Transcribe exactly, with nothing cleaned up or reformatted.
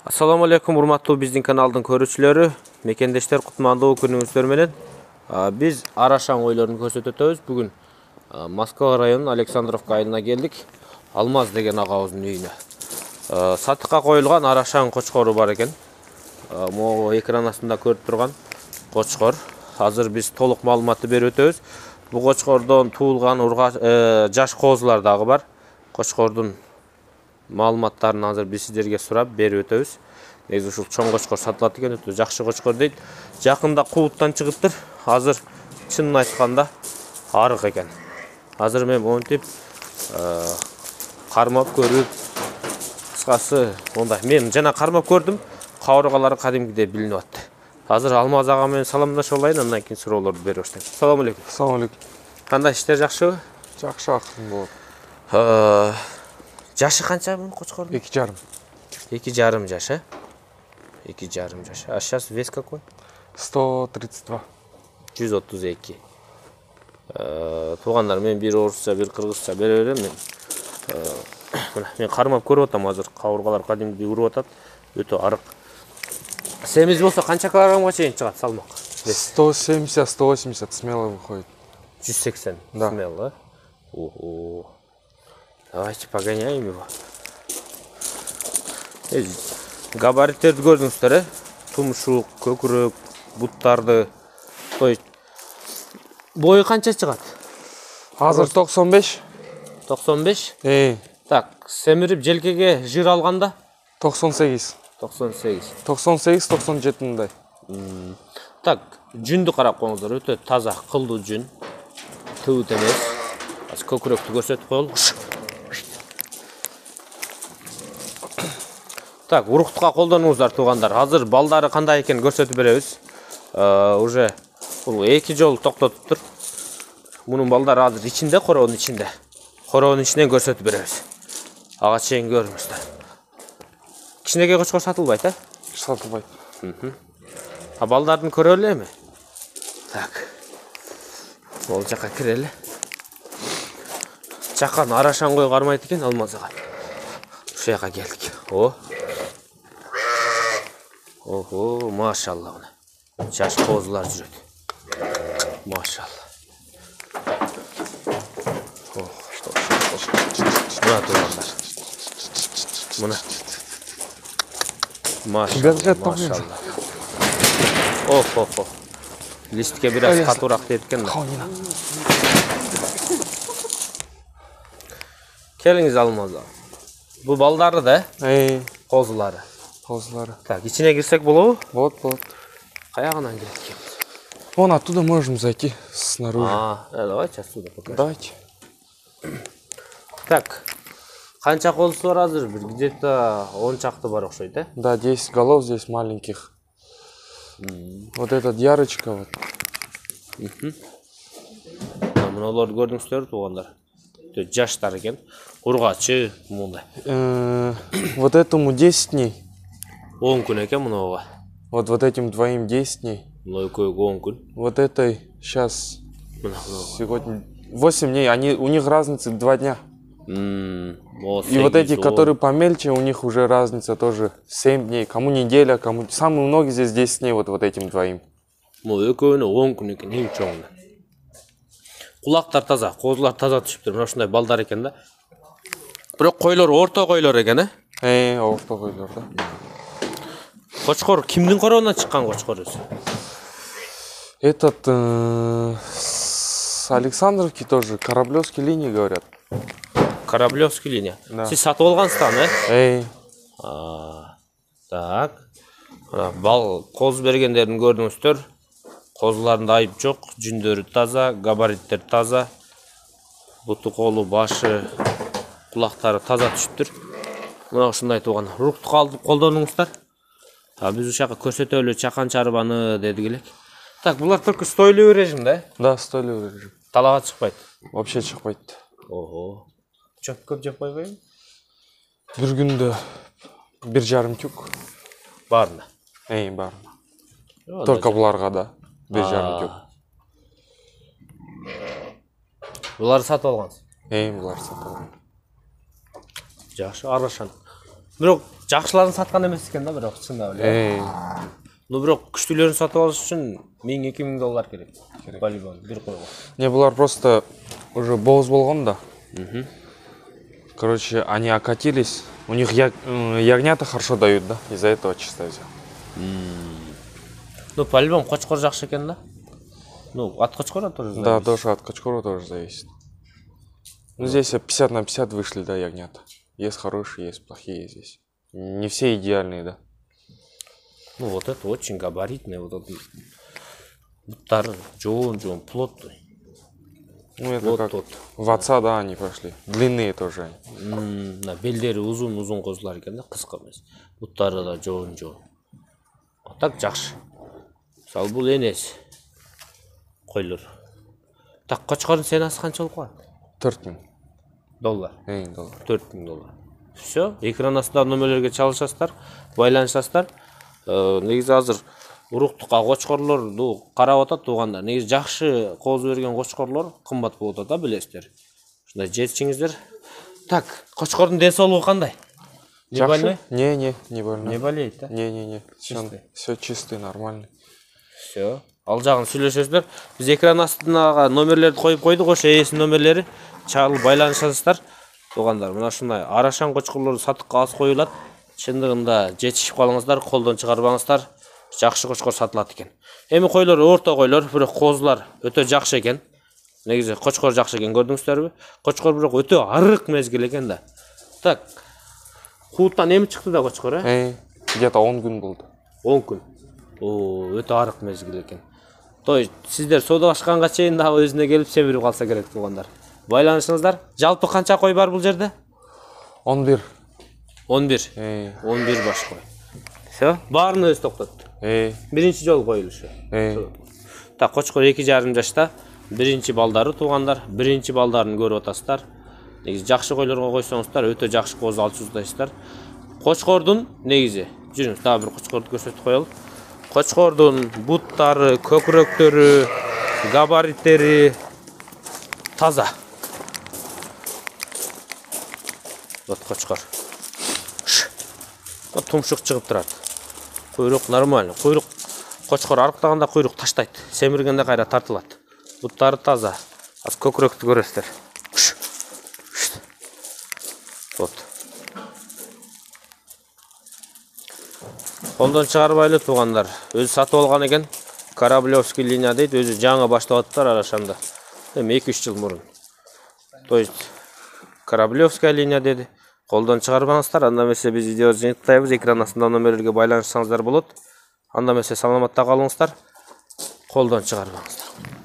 Assalamu alaikum, урматтуу биздин каналдын көрүүчүлөрү, мекендештер, кутмандуу күнүңүздөр менен. Биз арашаң ойлорун көрсөтөт өтөбүз. Бүгүн Москва районунун Александровка айылына келдик. Алмаз деген агабыздын үйүнө. Сатыкка коюлган арашаң кочкору бар экен. Могу экран астында көрүп турган кочкор. Азыр биз толук маалыматты берип өтөбүз. Бул кочкордон туулган жаш козулар дагы бар. Кочкордун маалыматтарын азыр биз сиздерге сурап берип өтөбүз. Негизи ушул чоң кочкор сатылат экен, өтө жакшы кочкор дейт. Жакында кубуттан чыгыптыр. Азыр чынын айтканда арык экен. Азыр мен монтип кармап көрүп, кыскасы мондай. Мен жана кармап көрдүм. Кабыргалары кадимкидей билинип атты. Азыр Алмаз ага менен саламдашып алайын, андан кийин суроолорду берип баштайм. Assalamu alaikum. Assalamu alaikum. Кандай иштер жакшыбы? Жакшы акырын болот. Жашы канча бул кочкордун? Эки жарым. Эки жарым жаш, э? Эки жарым жаш. А сейчас вес какой? сто тридцать два. жүз отуз эки. Туугандар, мен бир орусча, бир кыргызча бере берем. Мен мына мен кармап көрүп атам, азыр кабыргалар кадимдей уруп атат. Өтө арык. Семиз болсо канча килограммга чейин чыгат салмак? сто семьдесят сто восемьдесят смело выходит. жүз сексен Да. Смело, э? Ого. Давайте погоняем его. Габариттерди көрдүңүздөр, э? Тумшук, көкүрөк, буттарды. То есть бою канча чыгат? Азыр токсон беш. токсон беш? Эй, Так, семирип желкеге жыр алганда? токсон сегиз. токсон сегиз. токсон сегиз токсон жети мындай. Так, жүндү карап коюңуздар, өтө таза, кылдуу жүн. Тыбыт эмес. Азыр көкүрөктү көрсөтүп коелу. Так, уруктукка колдонуңуздар туугандар. Азыр балдары кандай экенин көрсөтүп беребиз. Уже бул эки жолу токтотуптур. Мунун балдары азыр ичинде, короонун ичинде. Короонун ичинен көрсөтүп беребиз. Ага чейин көрүңүздөр. Кичинекей кочкор сатылбайт, э? Сатылбайт. А балдарын көрө элеми? Так. Бул жака кирели. Чакан арашаң кой кармайт экен Алмаз ага. Ушул жака келдик. О. Ого, машалла мына. Жаш козулар жүрөт. Машалла. О, что? Мына туугандар. Мына. Машалла. Машалла. Оф, оф, оф. Листке бир аз катуураак тиет экен да. Келиңиз Алмаз ага. Бул балдары да, э? Эй, Козулары. козулары. Так, ичине кирсек болобу? Вот, вот. Каягынан кирет экен? Вон оттуда можем зайти снаружи. А, давайте отсюда покажем. Давайте. Так, канча козусу бар азыр? Бир где-то он чакты бар окшойт, э? Да, десять голов здесь маленьких. Вот этот ярочка вот. Мыналарды көрдүңүздөр туугандар. Өтө жаштар экен. Ургачы мындай. Вот этому десять дней. он күн экен мынага. Вот вот этим двоим десять дней. Мына экөөгө он күн. Вот этой сейчас Мына сегодня восемь дней. Они у них разница два дня. мына. И вот эти, которые помельче, у них уже разница тоже семь дней. Кому неделя, кому самые многие здесь десять дней вот вот этим двоим. Мына экөөнө он күн экен, эң чоңуна. Кулактар таза, козулар таза түшүптүр. Мына ушундай балдар экен да. Бирок койлор орто койлор экен, э? Э, орто койлор да. Кочкор кимдин короонан чыккан кочкор өзү? Этот э, с Александровки тоже, Кораблевской линии говорят. Кораблевский линия. Да. Сиз сатып алгансыздар, э? Эй, А, так. Бал коз бергендерин көрдүңүздөр. Козуларында айып жок, жүндөрү таза, габариттер таза. Буту, колу, башы, кулактары таза түшүптүр. Мына ушундай тууган. Уруктук алып колдонуңуздар. А биз ушака көрсөтөлү чакан чарбаны дедик элек. Так, булар только стойлуу режим да? да, стойлуу режим. Талага чыкпайт. Вообще чыкпайт. Ого. Чөп көп жеп койбойбу? Бир күндө бир жарым тюк. Баарына. Эй, бар. Только буларга да. Бир жарым тюк. Буларды сатып алгансыз? Эй, булар сатып алган. Жакшы, арашан. Бирок жакшыларын саткан эмес экен да, бирок чындап эле. Эй, Ну бирок күчтүүлөрүн сатып алыш үчүн миң эки миң доллар керек. По-любому бир койго. не, булар просто уже боз болгон да. Короче, они окатились. У них я- м, ягнята хорошо дают, да? Из-за этого чисто взял. Ну по-любому кочкор жакшы экен да. Ну от кочкора тоже. Да, тоже от качкора тоже зависит. Ну, здесь пятьдесят на пятьдесят вышли, да, ягнята. Есть хорошие, есть плохие здесь. Не все идеальные, да. Ну вот это очень габаритный, вот этот буттары жоон-жоон плотный. Ну, это Вот как тот. в отца, да, они пошли. Длинные тоже они. М, мына белдери узун-узун козулар экен да, кыска эмес. Буттары да жоон-жоон. А так жакшы. Мисалы бул энеси койлор. Так кочкордун ценасы канча болуп калат? төрт миң. Доллар. Эй, доллар. төрт миң доллар. Все, экран астындагы нөмөрлөргө чалышасыздар, байланышасыздар. Э, негизи азыр уруктукка кочкорлорду карап атат туугандар. Негизи жакшы кооз берген кочкорлор кымбат болуп атат да, билесиздер. Ушундай жетишиңиздер. Так, кочкордун ден соолугу кандай? Не больной? Не, не, не больной. Не болеет, да? Не, не, не. Чистый. Все чистый, нормальный. Все. Ал жагын сүйлөшөсүздөр. Биз экран астына номерлерди коюп койдук, ошо ээсинин номерлери. Чалып байланышасыздар. Туугандар, мына ушундай арашан кочкорлорду сатыкка аз коюлат. Чындыгында жетишип калыңыздар, колдон чыгарбаңыздар. Жакшы кочкор сатылат экен. Эми койлор орто койлор, бирок коозулар өтө жакшы экен. Негизи кочкор жакшы экен, көрдүңүздөрбү? Кочкор бирок өтө арык мезгил экен да. Так. Кууттан эми чыкты да кочкор, э? Эй, где-то он күн болду. он күн. О, өтө арык мезгил экен. То есть сиздер соодалашканга чейин дагы өзүнө келип семирип калса керек туугандар. Байланышыңыздар. Жалпы канча кой бар бул жерде? он бир. он бир. Эй, он бир баш кой. Все, баарын өзү токтотту. эй, Биринчи жолу коюлушу. эй. Так, кочкор эки жарым жашта. Биринчи балдары туугандар. Биринчи балдарын көрүп атасыздар. Негизи жакшы койлорго койсоңуздар өтө жакшы кооз алып чыгасыздар. Кочкордун негизи, жүрүңүз дагы бир кочкорду көрсөтүп коелу. Кочкордун буттары, көкүрөктөрү, габариттери таза. Вот кочкор. Вот тумшук чыгып турат. Куйрук нормально. Куйрук кочкор арыктаганда куйрук таштайт. Семиргенде кайра тартылат. Буттары таза. Az көкүрөктү көрөсүздөр. Вот. Колдон чыгарбайлы туугандар. Өзү сатып алган экен. Кораблевский линия дейт. Өзү жаңы баштап аттар Арашанда. Эми эки үч жыл мурун. То есть Кораблевская линия деди. Колдон чыгарбаңыздар. Анда эмесе биз видео жыйынтыктайбыз. Экран астында номерлерге байланышсаңыздар болот. Анда эмесе саламатта калыңыздар. Колдон чыгарбаңыздар.